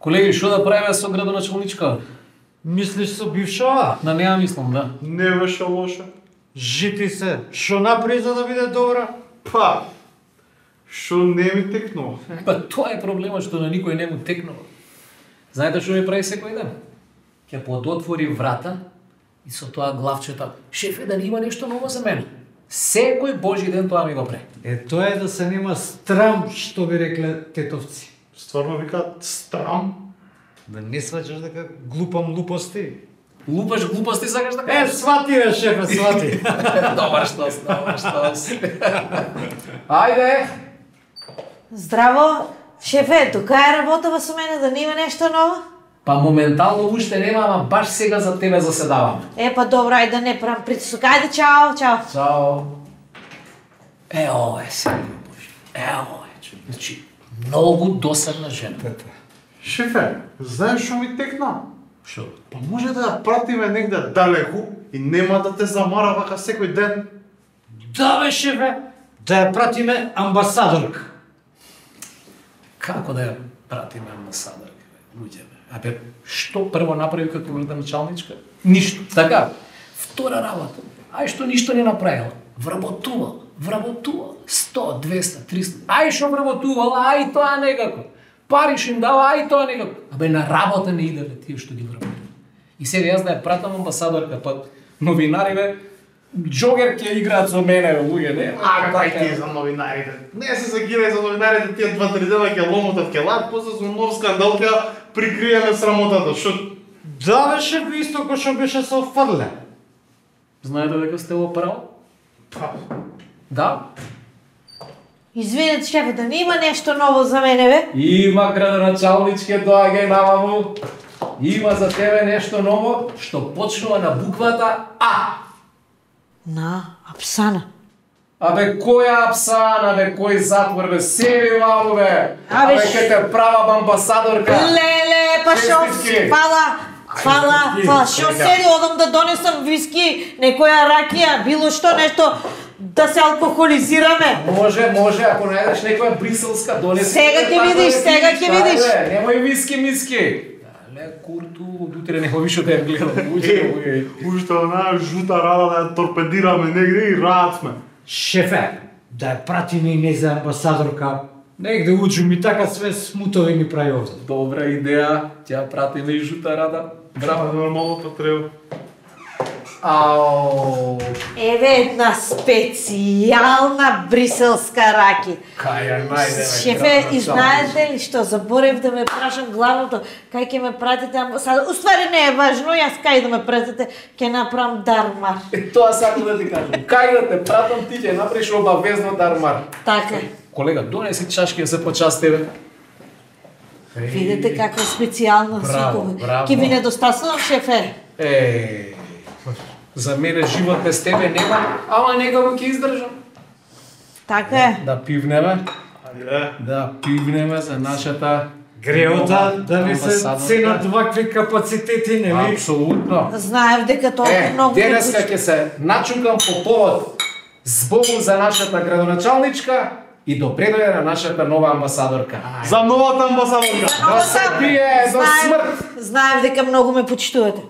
Колеги, што да правиме со градоначалничка? Мислиш со бившава? На неа мислам, да. Не беше лоша. Жити се, што направи за да биде добра? Па, што не ми текнува. Па тоа е проблемот што на никој не му текнува. Знаете што ми прави секој ден? Ќе подотвори врата и со тоа главчета: "Шефе, да не има нешто ново за мене." Секој божи ден тоа ми го прави. Тоа е да се нема страм, што би рекле тетовци. Стварно викаат страм. Да не сваќаш дека глупам глупости. Лупаш глупости сакаш да кажеш? Свати бе, шефе, свати. Добар штос, добар штос. Ајде! Здраво, шефе, тука е работава со мене, да не има нешто ново? Па моментално уште нема, ама баш сега за тебе заседаваме. Па добро, ајде да не правам притисок. Ајде, чао, чао. Чао. Ова е сега, Боже. Ова е, човек. Значи, многу досадна жена. Шефе, знаеш што ми текна? Шо? Па може да ја пратиме негде далеку и нема да те замара вака секој ден. Да бе, шефе, да ја пратиме амбасадорка. Како да ја пратиме амбасадорка, луѓе бе? Абе, што прво направи како градоначалничка? Ништо. Така, втора работа. Ај што ништо не направила. Вработувала. 100, 200, 300. Ај што вработувала, ај тоа некако. Пари што им дава, ај тоа некако. Абе, на работа не иделе тие што ги вработува. И сега јас да ја пратам амбасадорка, па новинари бе, джогер ќе играат со мене, бе, луѓе, не? Дај ти за новинарите. Не се загирај за новинарите, тие 2-3 дена ќе ломотат ќе лад, после со нов скандал ќе прикриеме срамотата. Што? Да бе, шефе, исто кој што беше со Фрле. Знаете дека сте во право? Па, Да. Извинете, шефе, да не има нешто ново за мене, бе? Има градоначалничке, доаѓај намаму. Има за тебе нешто ново што почнува на буквата А. На, Апсана. Абе, која Апсана, бе, кој затвор, бе, себе маму, бе. Абе, ке те правам амбасадорка. Леле, па шо, Честитки. фала, шо седи, одам да донесам виски, некоја ракија, било што, нешто, да се алкохолизираме. Може, ако најдеш некоја бриселска, донеси. Сега ќе видиш, сега ќе видиш. Немој виски, миски. Ле, курту, утре не више да ја гледам. уште онаа жута рада да ја торпедираме негде и рад сме. Шефе, да ја пратиме и не за амбасадорка. Негде уđу ми така све смутови ми прави овде. Добра идеја, ќе пратиме и жута рада. Браво, нормално па треба. Ау. Еве една специјална бриселска раки. Кај ја најдеме. Шефе, и знаете ли што, заборев да ме прашам главното, кај ќе ме пратите амбасадор. Уствари не е важно, јас кај да ме пратите, ќе направам дармар. Тоа сакам да ти кажам. Кај да те пратам, ти ќе направиш обавезно дармар. Така. Колега, донеси чашки да се почаст тебе. Видете каква специјална Браво, супова. браво. Ќе ви недостасувам, шефе. За мене живот без тебе нема, ама некако ќе издржам. Така е. Да пивнеме, Ајде. да пивнеме за нашата Греота да не се амбасадорка. ценат вакви капацитети, нели? Апсолутно. Знаев дека толку многу Денеска ќе се начукам по повод збогу за нашата градоначалничка и добре дојде на нашата нова амбасадорка. За новата амбасадорка. Да се пие до смрт. Знаев дека многу ме почитувате.